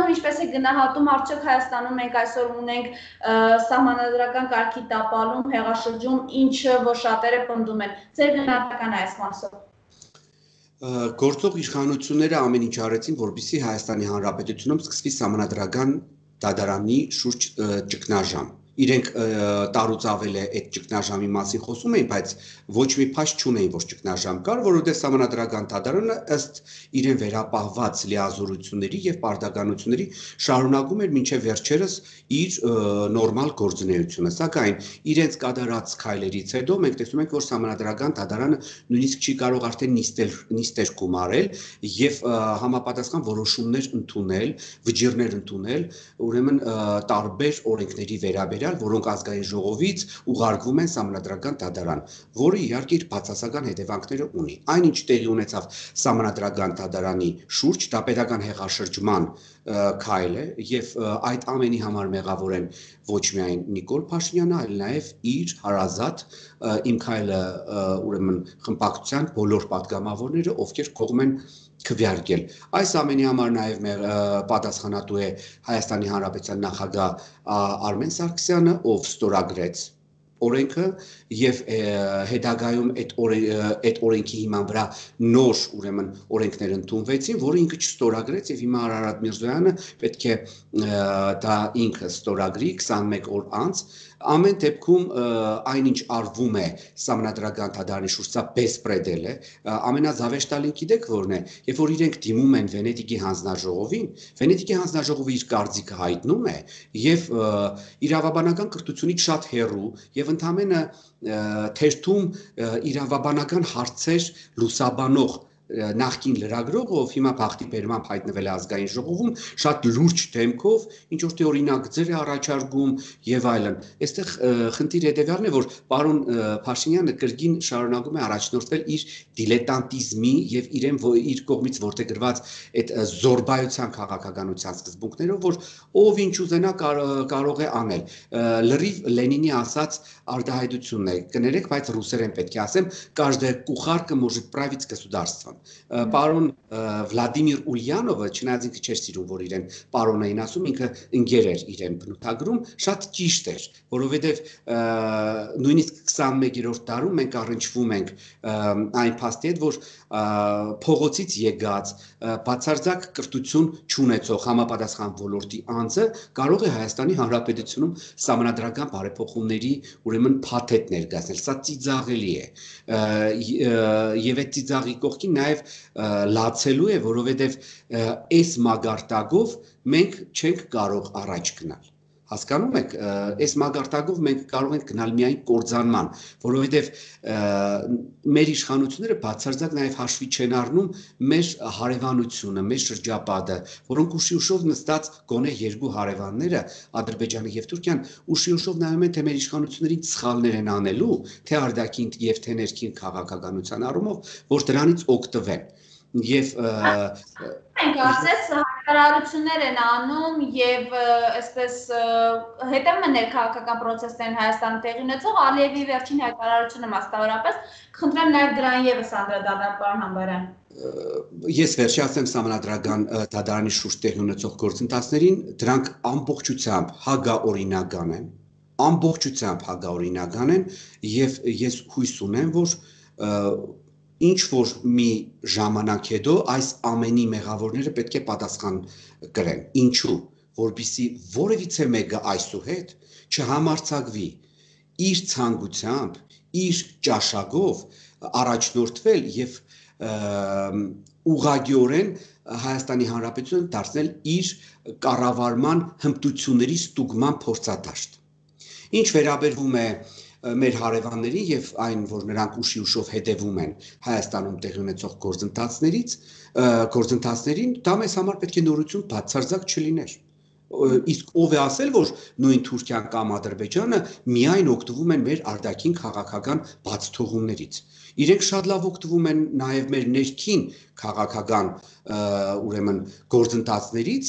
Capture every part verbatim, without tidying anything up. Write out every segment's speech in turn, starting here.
Հայաստանում ինչպես է գնահատում, արդյոք Հայաստանում մենք այսօր ունենք սահմանադրական կարգի տապալում, հեղաշրջում, ինչը որ շատերը պնդում են։ Ձեր գնահատականը այս մասով։ Գործող իշխանությունները ամեն ինչ արեցին, որպեսզի Հայաստանի Հանրապետությունում սկսվի սահմանադրական դատարանի շուրջ ճգնաժամ։ Իրենք տարուց ավել է այդ ճգնաժամի մասին խոսում էին, բայց ոչ մի փաստ չունեին, որ ճգնաժամ կար, որովհետև սահմանադրական դատարանը ըստ իրեն վերապահված լիազորությունների եւ պարտականությունների շարունակում էր մինչեւ վերջերս իր նորմալ գործունեությունը։ Սակայն իրենց կատարած քայլերից հետո մենք տեսնում ենք, որ սահմանադրական դատարանը նույնիսկ չի կարող արդեն նիստեր նիստեր գումարել եւ համապատասխան որոշումներ ընդունել, վճիռներ ընդունել, ուրեմն տարբեր օրենքների վերաբերյալ, որոնք ազգային ժողովից ուղարկվում են սահմանադրական դատարան, որը իհարկե իր բացասական հետևանքները ունի։ Այնինչ տեղի ունեցավ սահմանադրական դատարանի շուրջ, դա պետական հեղաշրջման քայլ է եւ այդ ամենի համար մեղավոր են ոչ միայն Նիկոլ Փաշինյանը, այլ նաեւ իր հարազատ իմ քայլը ուրեմն խմբակցության բոլոր պատգամավորները, ովքեր կողմ են քվեարկել։ Այս ամենի համար նաև պատասխանատու է Հայաստանի Հանրապետության նախագահ Արմեն Սարգսյանը, ով ստորագրեց օրենքը եւ հետագայում այդ այդ օրենքի հիման վրա նոր ուրեմն օրենքներ ընդունվեցին, որը ինքը չստորագրեց եւ հիմա Արարատ Միրզոյանը պետք է դա ինքը ստորագրի քսանմեկ օր անց։ Ամեն դեպքում այնինչ արվում է սահմանադրական դատարանի շուրջ, սա բեսպրեդել է, ամենազավեշտալին գիտեք որն է, երբ որ իրենք դիմում են Վենետիկի հանձնաժողովին, Վենետիկի հանձնաժողովը իր կարծիքը հայտնում է եւ իրավաբանական կրթությունից շատ հեռու եւ ընդամենը թերթում իրավաբանական հարցեր լուսաբանող նախկին լրագրող, ով հիմա բախտի բերմամբ հայտնվել է ազգային ժողովում, շատ լուրջ դեմքով, ինչ որ թե օրինակ ձեր է առաջարկում եւ այլն։ Այստեղ խնդիր հետեւյալն է, որ պարոն Փաշինյանը կրկին շարունակում է առաջնորդվել իր դիլետանտիզմի եւ իրեն իր կողմից ворթեգրված այդ զորբայության քաղաքականության սկզբունքներով, որ ով ինչ ուզենա կարող է անել։ Լրիվ Լենինի ասած արտահայտությունն է, կներեք, բայց ռուսերեն պետք է ասեմ, каждая кухарка может править государством։ Պարոն Վլադիմիր Ուլյանովը, չնայած ինքը չէր սիրում, որ իրեն պարոն էին ասում, ինքը ընկեր էր իրեն բնութագրում, շատ ճիշտ էր, որովհետև նույնիսկ քսանմեկերորդ դարում մենք առնչվում ենք այն փաստի հետ, որ փողոցից եկած բացարձակ կրթություն չունեցող համապատասխան ոլորտի անձը կարող է Հայաստանի Հանրապետությունում սահմանադրական բարեփոխումների ուրեմն փաթեթ ներկայացնել։ Սա ծիծաղելի է եւ այդ ծիծաղի կողքին նաեւ լացելու է, որովհետեւ այս մագարտակով մենք չենք կարող առաջ գնալ։ Հասկանում եք, այս մագարտակով մենք կարող ենք գնալ միայն կործանման, որովհետև մեր իշխանությունները բացարձակ նաև հաշվի չեն առնում մեր հարևանությունը, մեր շրջապատը, որոնք ուշի ուշով նստած գոնե երկու հարևանները, Ադրբեջանը եւ Թուրքիան, ուշի ուշով նայում են, թե մեր իշխանություններին սխալներ են անելու, թե արտաքին եւ թե ներքին քաղաքականության առումով, որ դրանից օգտվեն։ Եվ կարծես հայտարարություններ են անում եւ այսպես հետևում են ներքաղաքական process-ն Հայաստանում տեղի ունեցող Ալիևի վերջին հայտարարությունը մասնավորապես, խնդրեմ նաեւ դրան եւս անդրադառնալ պարոն Համբարյան։ Ես վերջացեմ սահմանադրական դատարանի շուրջ տեղի ունեցող գործընթացներին, դրանք ամբողջությամբ հագաօրինական են, ամբողջությամբ հագաօրինական են եւ ես հույս ունեմ, որ ինչ որ մի ժամանակ հետո այս ամենի մեղավորները պետք է պատասխան կրեն։ Ինչու՞, որպեսզի որևիցե մեկը այսուհետ չհամարձակվի իր ցանկությամբ, իր ճաշակով առաջնորդվել եւ ուղղակիորեն Հայաստանի Հանրապետությունը դարձնել իր կառավարման հմտությունների ստուգման փորձադաշտ։ Ինչ վերաբերվում է մեր հարևաններին եւ այն, որ նրանք ուշի ուշով հետևում են Հայաստանում տեղի ունեցող գործընթացներից, գործընթացներին, դա մեզ համար պետք է նորություն բացարձակ չլիներ։ Իսկ ով է ասել, որ նույն Թուրքիան կամ Ադրբեջանը միայն օգտվում են մեր արտաքին քաղաքական բացթողումներից։ Իրենք շատ լավ օգտվում են նաև մեր ներքին քաղաքական ուրեմն գործընթացներից,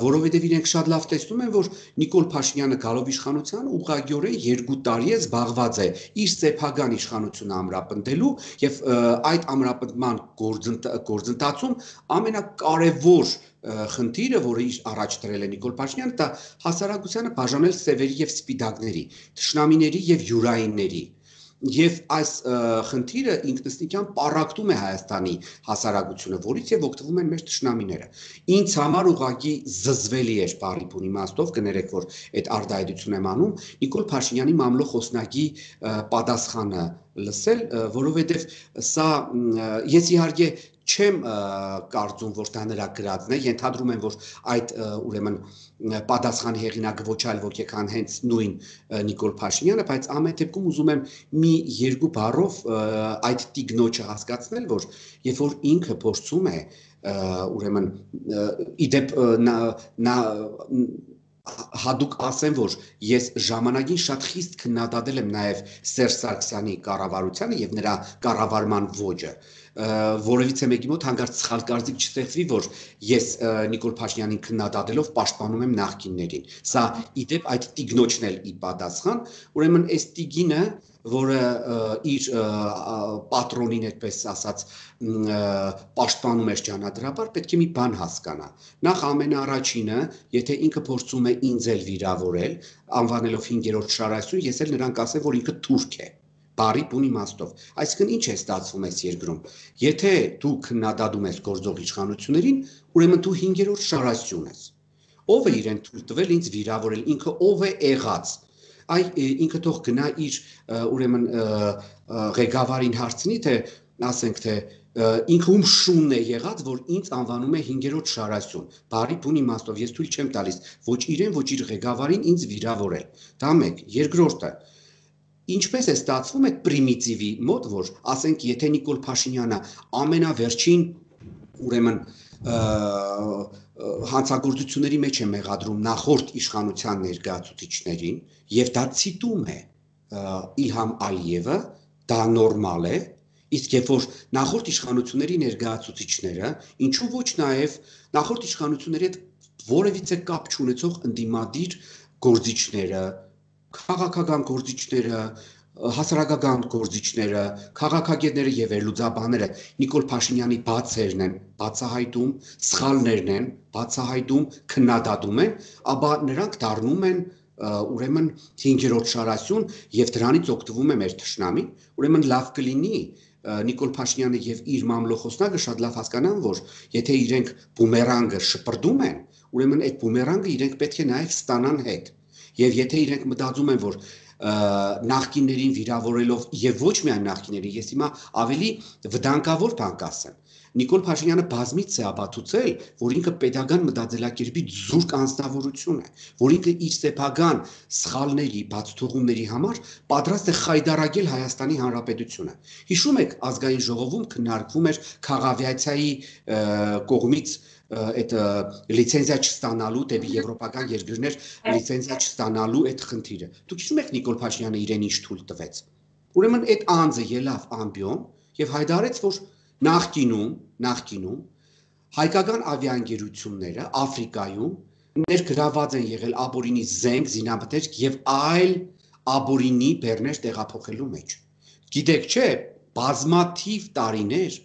որովհետև իրենք շատ լավ տեսնում են, որ Նիկոլ Փաշինյանը գալով իշխանության ուղղակիորեն երկու տարի է զբաղված է իր սեփական իշխանությունը ամրապնդելու եւ այդ ամրապնդման գործընթացում ամենակարևոր խնդիրը, որը իր առաջ դրել է Նիկոլ Փաշինյանը, դա հասարակությանը բաժանել սևերի եւ սպիտակների, թշնամիների եւ յուրայինների։ Եվ այս խնդիրը ինքնըստինքյան պառակտում է Հայաստանի հասարակությունը, որից եւ օգտվում են մեր թշնամիները։ Ինձ համար ուղղակի զզվելի էր բարի բուն իմաստով, կներեք, որ այդ արտահայտություն եմ անում, Նիկոլ Փաշինյանի մամլո խոսնակի պատասխանը լսել, որովհետեւ սա ես իհարկե չեմ կարծում, որ դա նրա գրածն է, ենթադրում եմ, որ այդ ուրեմն պատասխանի հեղինակը ոչ այլ ոք է, քան հենց նույն Նիկոլ Փաշինյանը, բայց ամեն դեպքում ուզում եմ մի երկու բառով այդ տիգնոջը հասկացնել, որ երբ որ ինքը փորձում է ուրեմն իդեպ նա հատուկ ասեմ, որ ես ժամանակին շատ խիստ քննադատել եմ նաև Սերժ Սարգսյանի կառավարությանը եւ նրա կառավարման ոճը, որովհետեւ մեկի մոտ հանկարծ սխալ կարծիք չստեղծվի, որ ես Նիկոլ Փաշինյանին քննադատելով պաշտպանում եմ նախկիններին։ Սա իդեպ այդ տիգնոջն էլ ի պատասխան, ուրեմն այս տիգինը, որը իր պատրոնին, այդպես ասած, պաշտպանում էր ճանատրաբար, պետք է մի բան հասկանա։ Նախ ամենաառաջինը, եթե ինքը փորձում է ինձ էլ վիրավորել, անվանելով հինգերորդ շարասյուն, ես էլ նրան կասեմ, որ ինքը թուրք է։ Բարի բուն իմաստով։ Այսինքն ինչ է ստացվում այս երկրում։ Եթե դու քննադատում ես գործող իշխանություններին, ուրեմն դու հինգերորդ շարասյուն ես։ Ով է իրեն թույլ տվել ինձ վիրավորել, ինքը ով է եղած։ Այ ինքը թող գնա իր ուրեմն ղեկավարին հարցնի, թե ասենք թե ինքը ում շունն է եղած, որ ինձ անվանում է հինգերորդ շարասյուն։ Բարի բուն իմաստով ես թույլ չեմ տալիս ոչ իրեն, ոչ իր ղեկավարին ինձ վիրավորել։ Դա մեկ, երկրորդը Ինչպես է ստացվում այդ պրիմիտիվի մոտ, որ ասենք եթե Նիկոլ Փաշինյանը ամենավերջին ուրեմն հանցագործությունների մեջ է մեղադրում նախորդ իշխանության ներկայացուցիչներին եւ դա ցիտում է Իլհամ Ալիևը, դա նորմալ է, իսկ երբ որ նախորդ իշխանությունների ներկայացուցիչները, ինչու ոչ նաեւ նախորդ իշխանությունների հետ որևիցե կապ չունեցող ընդդիմադիր գործիչները, քաղաքական գործիչները, հասարակական գործիչները, քաղաքագետները եւ վերլուծաբանները Նիկոլ Փաշինյանի բացերն են բացահայտում, սխալներն են բացահայտում, քննադատում են, ապա նրանք դառնում են ուրեմն հինգերորդ շարասյուն եւ դրանից օգտվում է մեր թշնամին, ուրեմն լավ կլինի Նիկոլ Փաշինյանը եւ իր մամլոխոսնակը շատ լավ հասկանան, որ եթե իրենք բումերանգը շպրդում են, ուրեմն այդ բումերանգը իրենք պետք է նաեւ ստանան հետ։ Եվ եթե իրենք մտածում են, որ նախկիններին վիրավորելով եւ ոչ միայն նախկիներին, ես հիմա ավելի վտանգավոր բան կասեմ։ Նիկոլ Փաշինյանը բազմիցս է ապացուցել, որ ինքը պետական մտածելակերպի զուրկ անձնավորություն է, որ ինքը իր սեփական սխալների, բացթողումների համար պատրաստ է խայդարագել Հայաստանի Հանրապետությունը։ Հիշում եք, ազգային ժողովում քննարկվում էր քաղավիացիայի կողմից այդ լիցենզիա չստանալու դեպի եվրոպական երկրներ լիցենզիա չստանալու այդ խնդիրը։ Դուք հիշում եք Նիկոլ Փաշինյանը իրեն ինչ թույլ տվեց։ Ուրեմն այդ անձը ելավ ամբիոն եւ հայտարարեց, որ նախկինում, նախկինում հայկական ավիաընկերությունները Աֆրիկայում ներգրաված են եղել աբորինի զենք, զինամթերք եւ այլ աբորինի բեռներ տեղափոխելու մեջ։ Գիտեք, չէ, բազմաթիվ տարիներ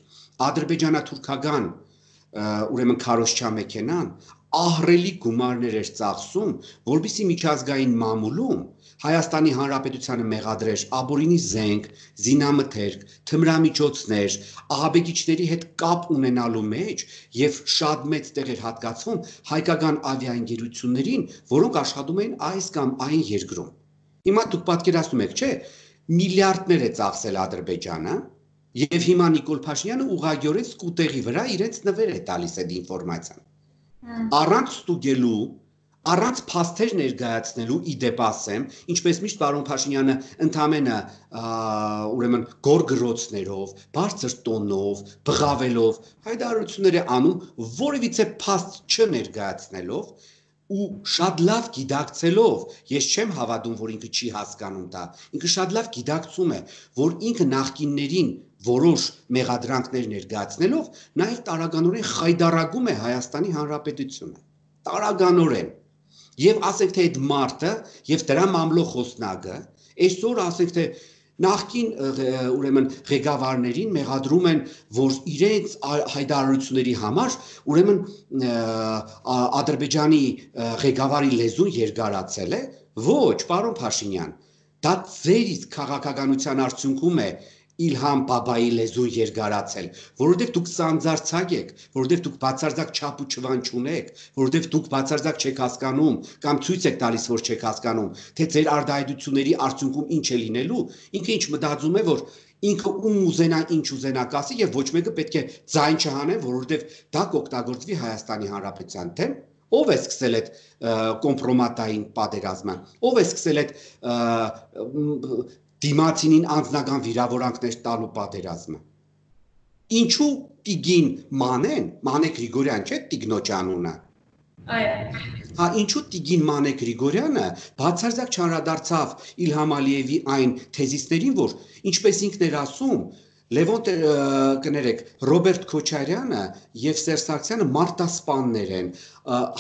ադրբեջանա-թուրքական ուրեմն քարոզչա մեքենան ահռելի գումարներ էր ծախսում, որբիսի միջազգային մամուլում Հայաստանի Հանրապետությանը մեղադրեր աբորինի զենք, զինամթերք, թմրամիջոցներ, ահաբեկիչների հետ կապ ունենալու մեջ եւ շատ մեծ տեղ էր հատկացվում հայկական ավիաընկերություններին, որոնք աշխատում էին այս կամ այն երկրում։ Հիմա դուք պատկերացնում եք, չէ՞, միլիարդներ է ծախսել Ադրբեջանը եւ հիմա Նիկոլ Փաշինյանը ուղղակիորեն սկուտեղի վրա իրենց նվեր է տալիս այդ ինֆորմացիան։ Առանց ստուգելու, առանց փաստեր ներկայացնելու իդեպ ասեմ, ինչպես միշտ պարոն Փաշինյանը ընդամենը ուրեմն գորգրոցներով, բարձր տոնով, բղավելով հայտարարություններ է անում, որևիցե փաստ չներկայացնելով ու շատ լավ գիտակցելով, ես չեմ հավատում, որ ինքը չի հասկանում դա, ինքը շատ լավ գիտակցում է, որ ինքը նախկիններին որոշ մեղադրանքներ ներկայացնելով նաև տարականորեն խայդարագում է Հայաստանի Հանրապետությունը, տարականորեն, եւ ասենք թե այդ մարտը եւ դրա մամլոխոսնագը այսօր ասենք թե նախքին ուրեմն ղեկավարներին մեղադրում են, որ իրենց հայտարարությունների համար ուրեմն Ադրբեջանի ղեկավարի լեզուն երկարացել է, ոչ, պարոն Փաշինյան, դա ձեր իսկ քաղաքականության արդյունքում է Իլհամ Բաբայի լեզուն երկարացել, որովհետև դուք սանձարձակ եք, որովհետև դուք բացարձակ չափ ու չվան չունեք, որովհետև դուք բացարձակ չեք հասկանում կամ ցույց եք տալիս, որ չեք հասկանում, թե ձեր արտահայտությունների արդյունքում ինչ է լինելու, ինքը ինչ մտածում է, որ ինքը ում ուզենա ինչ ուզենա կասի եւ ոչ մեկը պետք է ձայն չհանեն, որովհետև դա կօգտագործվի Հայաստանի Հանրապետության դեմ։ Ով է սկսել այդ կոմպրոմատային պատերազմը, ով է սկսել այդ դիմացինին անձնական վիրավորանքներ տալու պատերազմը։ Ինչու Տիգին Մանեն, Մանե Գրիգորյան չէ Տիգնոջ անունը։ Այո։ Հա, ինչու Տիգին Մանե Գրիգորյանը բացարձակ չանդրադարձավ Իլհամ Ալիևի այն թեզիսներին, որ ինչպես ինքն էր ասում, Լևոն կներեք, Ռոբերտ Քոչարյանը եւ Սերժ Սարգսյանը մարտասպաններ են,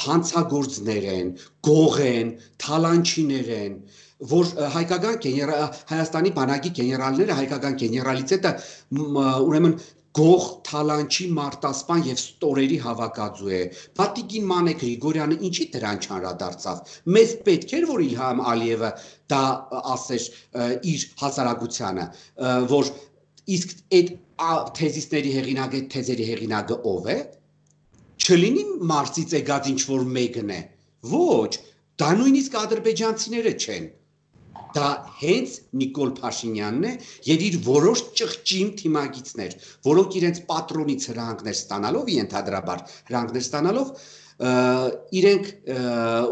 հանցագործներ են, գող են, թալանչիներ են, որ հայկական Հայաստանի բանակի գեներալները հայկական գեներալիտետը ուրեմն գող, թալանչի, մարտասպան եւ ստորերի հավաքածու է։ Տիգին Մանե Գրիգորյանը ինչի դրան չանդրադարձավ։ Մեզ պետք էր, որ Իլհամ Ալիևը դա ասեր իր հասարակությանը, որ իսկ այդ թեզիսների հեղինակը, թեզերի հեղինակը ով է։ Չլինի Մարսից եկած ինչ որ մեկն է։ Ոչ, դա նույնիսկ ադրբեջանցիները չեն։ Դա հենց Նիկոլ Փաշինյանն է եւ իր որոշ ճղճիմ թիմագիծներ, որոնք իրենց պատրոնից հրանքներ ստանալով, ենթադրաբար հրանքներ ստանալով, իրենք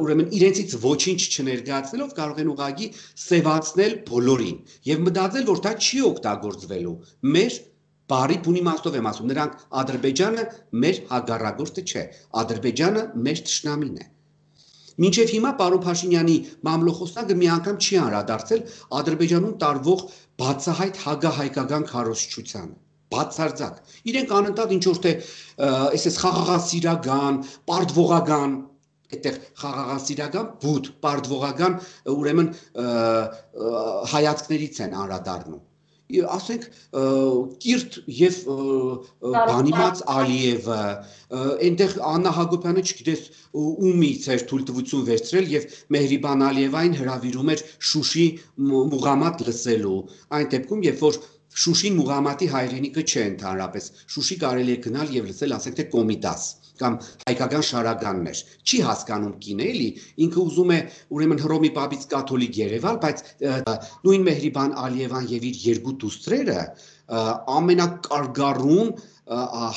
ուրեմն իրենցից ոչինչ չներկայացնելով կարող են ուղղակի սևացնել բոլորին եւ մտածել, որ դա չի օգտագործվելու։ Մեր բարի բունի մաստով եմ ասում, նրանք Ադրբեջանը մեր հագարագործը չէ, Ադրբեջանը մեր թշնամին է։ Մինչև հիմա պարոն Փաշինյանի մամլոխոսնագը մի անգամ չի անդրադարձել Ադրբեջանում տարվող բացահայտ հագահայկական քարոզչությանը։ Բացարձակ։ Իրենք անընդհատ ինչ որ թե այսպես խաղաղասիրական, պարտվողական, այդտեղ խաղաղասիրական, բութ, պարտվողական ուրեմն հայացքներից են անդրադառնում։ Ասենք Կիրթ եւ բանիմաց Ալիևը, այնտեղ Աննա Հակոբյանը չգիտես ումից էր թույլտվություն վերցրել եւ Մեհրիբան Ալիևային հրավիրում էր Շուշի Մուղամադ լսելու։ Այն դեպքում, երբ որ Շուշին Մուղամադի հայրենիքը չէ ընդհանրապես, Շուշի կարելի է գնալ եւ լսել, ասենք թե Կոմիտաս կամ հայկական շարականներ։ Չի հասկանում կինը, էլի, ինքը ուզում է ուրեմն Հռոմի Պապից կաթոլիկ Երևալ, բայց նույն Մեհրիբան Ալիևան եւ իր երկու դուստրերը ամենակարգառուն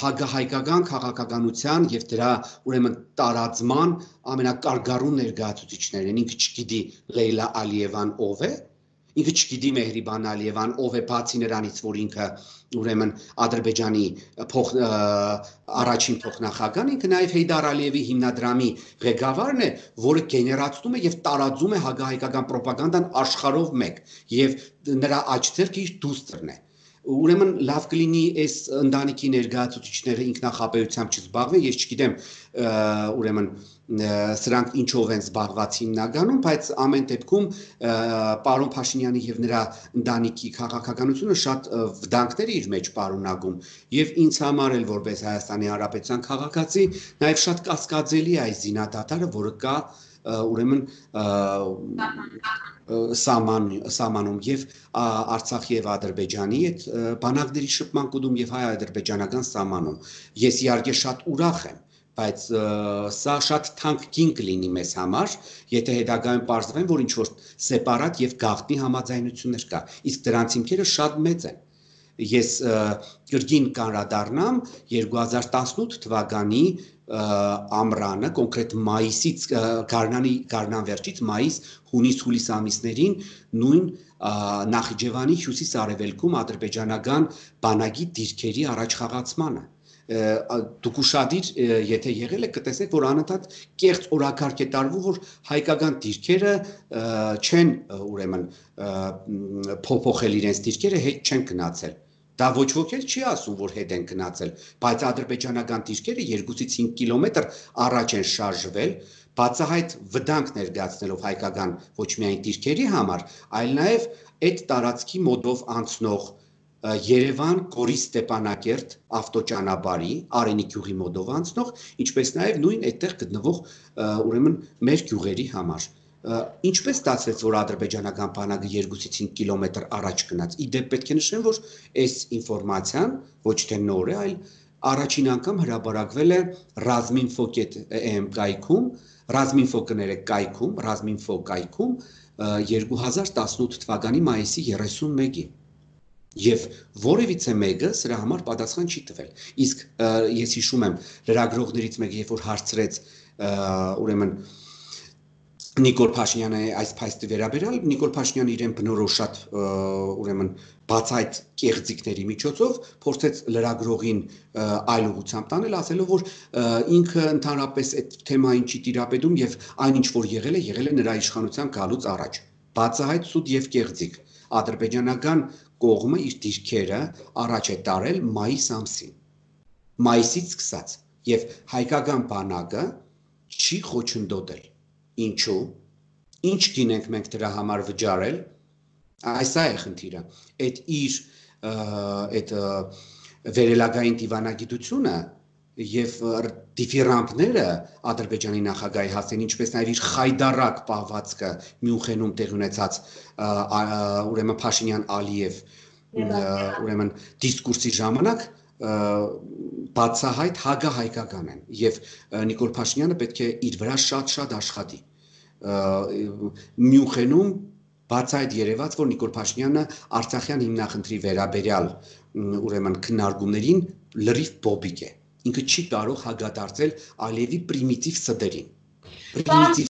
հագահայկական քաղաքականության եւ դրա ուրեմն տարածման ամենակարգառուն ներկայացուցիչներն են։ Ինքը չգիտի Լեյլա Ալիևան ով է, ինքը չգիտի Մեհրիբան Ալիևան ով է, բացի նրանից, որ ինքը ուրեմն Ադրբեջանի փոխ առաջին փոխնախագահն, ինքը նաև Հեյդար Ալիևի հիմնադրամի ղեկավարն է, որը գեներացնում է եւ տարածում է հագահայկական ռոպագանդան աշխարհով մեկ եւ նրա աջ ձեռքը իր դուստրն է։ Ուրեմն լավ կլինի այս ընտանիքի ներկայացուցիչները ինքնախապեյությամբ չզբաղվեն, ես չգիտեմ ուրեմն սրանք ինչով են զբաղված հիմնականում, բայց ամեն դեպքում պարոն Փաշինյանի եւ նրա ընտանիքի քաղաքականությունը շատ վտանգներ է իր մեջ պարունակում եւ ինձ համար էլ որպես Հայաստանի Հանրապետության քաղաքացի նաեւ շատ կասկածելի է այս զինադատարը, որը կա ուրեմն սահմանում եւ Արցախի եւ Ադրբեջանի այդ բանակների շփման կոդում եւ հայ-ադրբեջանական սահմանում։ Ես իհարկե շատ ուրախ եմ, բայց սա շատ թանկ կին կլինի մեզ համար, եթե հետագայում պարզվեն, որ ինչ որ սեպարատ եւ գաղտնի համաձայնություններ կա, իսկ դրանց հիմքերը շատ մեծ են։ Ես կրկին կանրադառնամ երկու հազար տասնութ թվականի ամռանը, կոնկրետ մայիսից, գարնանի գարնան վերջից մայիս, հունիս, հուլիս ամիսներին նույն Նախիջևանի հյուսիս-արևելքում ադրբեջանական բանակի դիրքերի առաջխաղացմանը։ Դուք ուշադիր եթե եղել եք կտեսնեք, որ անընդհատ կեղծ օրակարգ է տարվում, որ հայկական դիրքերը չեն ուրեմն փոփոխել իրենց դիրքերը, հետ չեն գնացել։ Դա ոչ ոք էլ չի ասում, որ հետ են գնացել, բայց ադրբեջանական դիրքերը երկուսից հինգ կիլոմետր առաջ են շարժվել, բացահայտ վտանգ ներկայացնելով հայկական ոչ միայն դիրքերի համար, այլ նաև այդ տարածքի մոտով անցնող Երևան, Գորիս, Ստեփանակերտ ավտոճանապարհի Արենի գյուղի մոտով անցնող, ինչպես նաև նույն այդտեղ գտնվող ուրեմն մեր գյուղերի համար։ Ինչպես ստացվեց, որ ադրբեջանական բանակը երկուսից հինգ կիլոմետր առաջ գնաց։ Իդեպ պետք է նշեմ, որ այս ինֆորմացիան ոչ թե նոր է, այլ առաջին անգամ հրապարակվել է Razminfo.am կայքում, Razminfo կներեք կայքում, Razminfo կայքում երկու հազար տասնութ թվականի մայիսի երեսունմեկին։ Եվ որևիցե մեկը սրա համար պատասխան չի տվել։ Իսկ ես հիշում եմ լրագրողներից մեկը, երբ որ հարցրեց ուրեմն Նիկոլ Փաշինյանը այս փաստի վերաբերյալ, Նիկոլ Փաշինյանը իրեն բնորոշ ուրեմն բացայտ կեղծիքների միջոցով փորձեց լրագրողին այլ ուղղությամբ տանել, ասելով, որ ինքը ընդհանրապես այդ թեմային չի տիրապետում եւ այն ինչ որ եղել է, եղել է նրա իշխանության գալուց առաջ։ Բացահայտ սուտ եւ կեղծիք։ Ադրբեջանական կողմը իր դիրքերը առաջ է տարել մայիս ամսին։ Մայիսից սկսած եւ հայկական բանակը չի խոչընդոտել։ Ինչու՞։ Ինչ գինենք մենք դրա համար վճարել։ Այս է խնդիրը։ Այդ իր այդ վերելագային դիվանագիտությունը եւ դիֆիրանտները Ադրբեջանի նախագահի հասցեն, ինչպես նաեւ իր խայդարակ պահվածքը Մյունխենում տեղ ունեցած ուրեմն Փաշինյան-Ալիև ուրեմն դիսկուրսի ժամանակ բացահայտ հակահայկական են եւ Նիկոլ Փաշինյանը պետք է իր վրա շատ-շատ աշխատի։ Մյունխենում բացահայտ երևաց, որ Նիկոլ Փաշինյանը Արցախյան հիմնախնդրի վերաբերյալ ուրեմն քննարկումներին լրիվ բոբիկ է։ Ինքը չի կարող հագադարձել Ալիևի պրիմիտիվ սդերին։